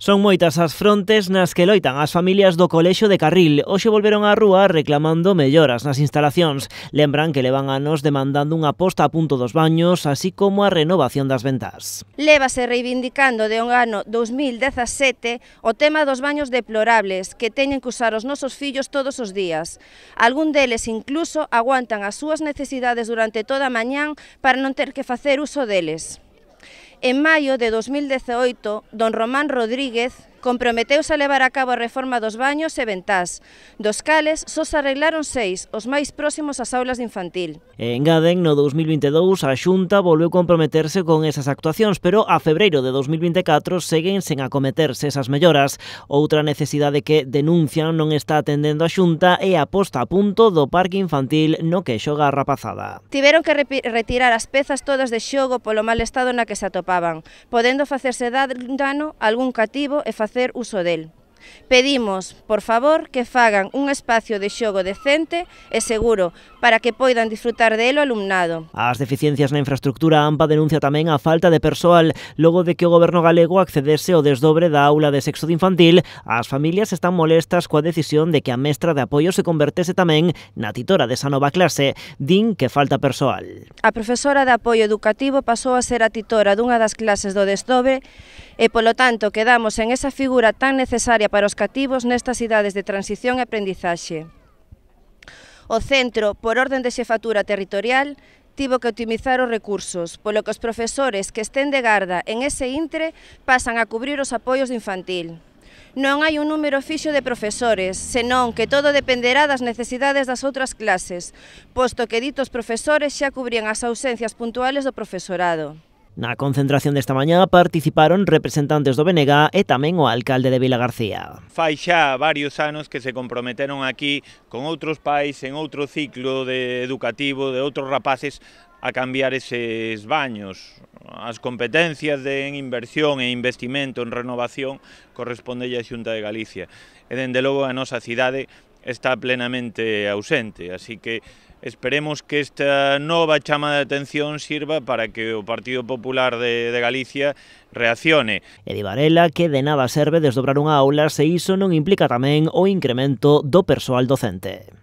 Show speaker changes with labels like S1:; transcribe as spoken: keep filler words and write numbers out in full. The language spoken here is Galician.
S1: Son moitas as frontes nas que loitan as familias do Colexio de Carril. Hoxe volveron á rúa reclamando melloras nas instalacións. Lembran que levan anos demandando unha posta a punto dos baños, así como a renovación das ventás.
S2: Lévase reivindicando de un ano dos mil dezasete o tema dos baños deplorables que teñen que usar os nosos fillos todos os días. Algún deles incluso aguantan as súas necesidades durante toda a mañán para non ter que facer uso deles. En maio de dos mil dezaoito, don Román Rodríguez comprometeuse a levar a cabo a reforma dos baños e ventás, dos cales só se arreglaron seis, os máis próximos ás aulas de infantil.
S1: E engaden, no dos mil vinte e dous, a Xunta volveu comprometerse con esas actuacións, pero a febreiro de dos mil vinte e catro seguen sen acometerse esas melloras. Outra necesidade que denuncian non está atendendo a Xunta é a posta a punto do parque infantil no que xoga a rapazada.
S2: Tiveron que retirar as pezas todas de xogo polo mal estado na que se atopaban, podendo facerse dano a algún cativo e facer hacer uso del. Pedimos, por favor, que fagan un espacio de xogo decente e seguro para que poidan disfrutar dele o alumnado.
S1: As deficiencias na infraestructura AMPA denuncia tamén a falta de persoal. Logo de que o goberno galego accedese ao desdobre da aula de sexto de infantil, as familias están molestas coa decisión de que a mestra de apoio se convertese tamén na titora desa nova clase. Din que falta persoal.
S2: A profesora de apoio educativo pasou a ser a titora dunha das clases do desdobre e, polo tanto, quedamos en esa figura tan necesaria para os cativos nestas idades de transición e aprendizaxe. O centro, por orden de xefatura territorial, tivo que optimizar os recursos, polo que os profesores que estén de garda en ese intre pasan a cubrir os apoios de infantil. Non hai un número fixo de profesores, senón que todo dependerá das necesidades das outras clases, posto que ditos profesores xa cubrían as ausencias puntuales do profesorado.
S1: Na concentración desta mañá participaron representantes do B N G e tamén o alcalde de Vilagarcía.
S3: Fai xa varios anos que se comprometeron aquí con outros pais en outro ciclo de educativo de outros rapaces a cambiar eses baños. As competencias de en inversión e investimento en renovación correspondelle á Xunta de Galicia. E, dende logo, a nosa cidade está plenamente ausente, así que esperemos que esta nova chama de atención sirva para que o Partido Popular de, de Galicia reaccione.
S1: E di Varela que de nada serve desdobrar unha aula se iso non implica tamén o incremento do persoal docente.